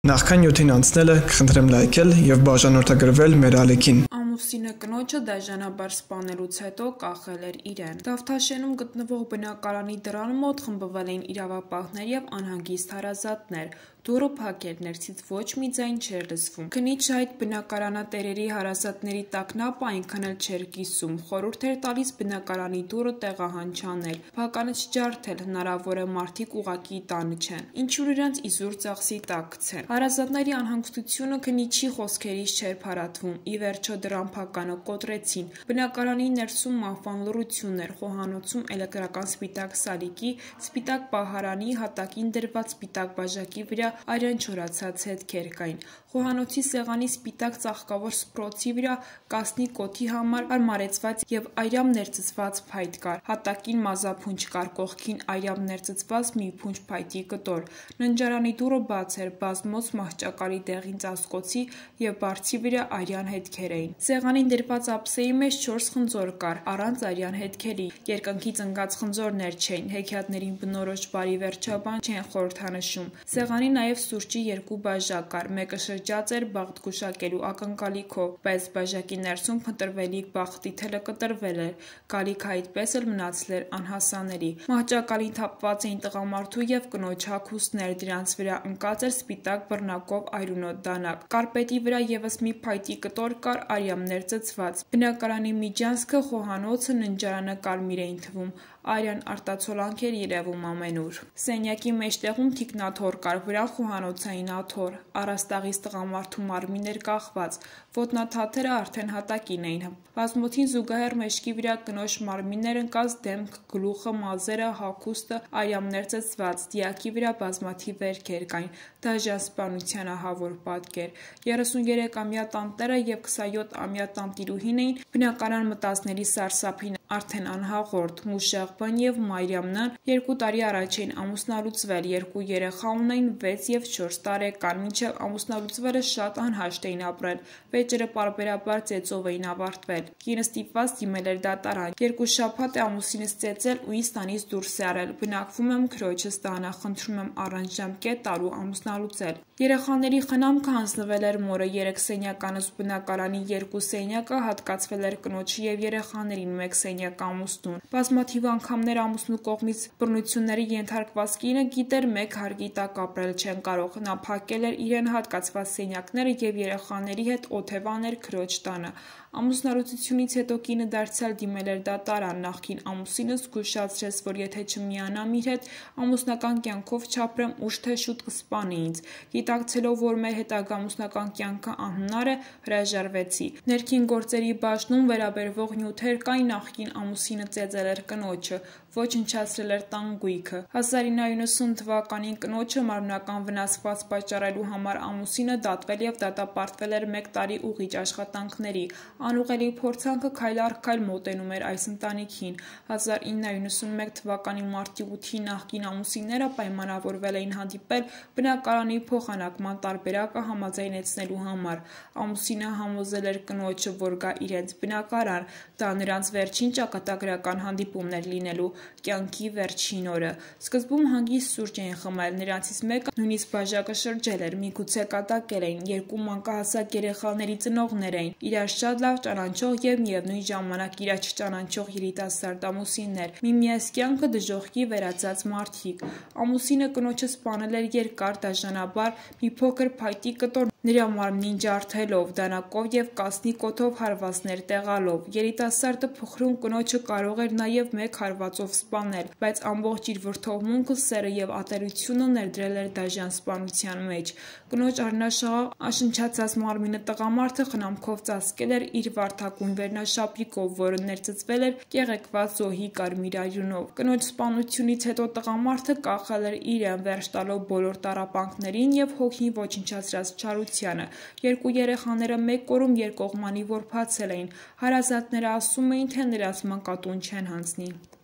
Նախքան նյութին անցնելը կխնդրեմ լայքել և բաժանորդագրվել մեր ալիքին։ Ամուսինը կնոջը դաժանաբար սպանելուց հետո կախել էր իրեն։ Դավթաշենում գտնվող բնակարանի դռան մոտ խմբվել էին իրավապահներ և անհանգիստ հարազատներ։ Դուռը փակ էր, ներսից ոչ մի ձայն չէր լսվում։ Քննիչը այդ բնակարանատերերի հարազատների տագնապը այնքան էլ չէր կիսում, խորհուրդ էր տալիս բնակարանի դուռը տեղահանչանել, փականը չջարդել, հնարավոր է մարդիկ ուղղակի տանը չեն, ինչու իրենց իզուր ծախսի տակ գցեն։ Հարազատների անհանգստությունը քննիչի խոսքերից չէր փարատվում։ Ի վերջո դռան փականը կոտրեցին։ Բնակարանի ներսում մահվան լռություն էր, խոհանոցում էլեկտրական սպիտակ սալիկի, սպիտակ պահարանի, հատակին դրված սպիտակ բաժակի վրա արյան չորացած հետքեր կային։ Խոհանոցի սեղանի սպիտակ ծաղկավոր սփռոցի վրա կասնի կոթի համար հարմարեցված և այրամ ներծծված փայտ կար։ Հատակին մազափունջ կար, կողքին այրամ ներծծված մի փունջ փայտի կտոր։ Ննջարանի դուռը բաց էր, բազմոց մահճակալի դեղին ծածկոցի և բարձի վրա արյան հետքեր էին։ Սեղանին դրված ափսեի մեջ 4 խնձոր կար, առանց արյան հետքերի։ Երկնքից ընկած խնձորներ չէին, հեքիաթներին բնորոշ բարի վերջաբան չեն խորհրդանշում։ Սեղանի նաև սուրճի 2 բաժակ կար, մեկը շրջած էր բախտ գուշակելու ակնկալիքով, բայց բաժակի ներսում փնտրվելիք բախտի թելը կտրվել էր, գալիքը այդպես էլ մնացել էր անհասանելի։ Մահճակալին թափված էին տղամարդու և կնոջ հագուստներ, դրանց վրա ընկած էր սպիտակ բռնակով այրունոտ դանակ։ Կարպետի վրա ևս մի փայտի կտոր կար, արյամ ներծծված։ Բնակարանի միջանցքը, խոհանոցը, ննջարանը կարմիր էին թվում, արյան արտացոլանք էր երևում ամենուր։ Սենյակի մեջտեղում թիկնաթոռ կար, վրան խոհանոցային աթոռ, առաստաղից տղամարդու մարմին էր կախված, ոտնաթաթերը արդեն հատակին էին։ Բազմոցին զուգահեռ մեջքի վրա կնոջ մարմինն էր ընկած, դեմքը, գլուխը, մազերը, հագուստը արյամ ներծծված, դիակի վրա բազմաթիվ վերքեր կային, դաժան սպանության ահավոր պատկեր։ 33-ամյա տանտերը և 27-ամյա տանտիրուհին էին բնակարան մտածների սարսափին արդեն անհաղորդ, Մուշեղ Բ-ն և Մարիամ Ն-ն 2 տարի առաջ էին ամուսնալուծվել, 2 երեխա ունեին 6 և 4 տարեկան, մինչև ամուսնալուծվելը շատ անհաշտ էին ապրել, վեճերը պարբերաբար ծեծով էին ավարտվել։ Կինը ստիպված դիմել էր դատարան։ 2 շաբաթ է ամուսինս ծեծել ու ինձ տանից դուրս է արել, բնակվում եմ քրոջս տանը, խնդրում եմ առանց ժամկետ տալու ամուսնալուծել։ Երեխաների խնամքը հանձնվել էր մորը, 3 սենյականոց բնակարանի 2 սենյակը հատկացվել էր կնոջը և երեխաներին, 1 սենյակ ամուսնուն։ Բազմաթիվ անգամներ ամուսնու կողմից բռնությունների ենթարկված կինը գիտեր մեկ հարկի տակ ապրել չեն կարող։ Նա փակել էր իրեն հատկացված սենյակները և երեխաների հետ օթևան էր քրոջ տանը։ Ամուսնալուծությունից հետո կինը դարձյալ դիմել էր դատարան։ Նախկին ամուսինս զգուշացրեց, որ եթե չմիանամ իր հետ, ամուսնական կյանքով չապրեմ, ուշ թե շուտ կսպանի ինձ։ Գիտակցելով, որ մեր հետագա ամուսնական կյանքը անհնար է, հրաժարվեցի։ Ներքին գործերի բաժնում վերաբերվող նյութեր կային, նախկին ամուսինը ծեծել էր կնոջը, ոչնչացրել էր տան գույքը։ 1990 թվականին կնոջը մարմնական վնասվածք պատճառելու համար ամուսինը դատվել և դատապարտվել էր 1 տարի ուղիչ աշխատանքների։ Անուղղելի փորձանքը քայլ առ քայլ մոտենում էր այս ընտանիքին։ 1991 թվականի մարտի 8-ին նախկին ամուսինները պայմանավորվել էին հանդիպել բնակարանի փոխանակման տարբերակը համաձայնեցնելու համար։ Ամուսինը համոզել էր կնոջը, որ գա իրենց բնակարան, դա նրանց վերջին ճակատագրական հանդիպումն էր լինելու կյանքի վերջին օրը։ Սկզբում հանգիստ սուրճ էին խմել, նրանցից մեկը նույնիսկ բաժակը շրջել էր, միգուցե կատակել էին, 2 մանկահասակ երեխաների ծնողներ էին, իրար շատ լավ ճանաչող և միևնույն ժամանակ իրար չճանաչող երիտասարդ ամուսիններ, միմյանց կյանքը դժոխքի վերածած մարդիկ։ Ամուսինը կնոջը սպանել էր երկար, դաժանաբար, մի փոքր փայտի կտոր նրա մարմնին ջարդելով, դանակով և կասնի կոթով հարվածներ տեղալով։ Երիտասարդը փխրուն կնոջը կարող էր նաև 1 հարվածով սպանել, բայց ամբողջ իր վրդովմունքը, սերը և ատելությունը ներդրել էր դաժան սպանության մեջ։ Կնոջ առնաշաղախ անշնչացած մարմինը տղամարդը խնամքով ծածկել էր իր վարդագույն վերնաշապիկով, որը ներծծվել էր կեղեքված զոհի կարմիր արյունով։ Կնոջ սպանությունից հետո տղամարդը կախել էր իրեն, վերջ տալով բոլոր տառապանքներին և հոգին ոչնչացրած չարությանը։ 2 երեխաները 1 օրում երկկողմանի որբացել էին։ Հարազատները ասում էին, թե նրանց մանկատուն չեն հանձնի։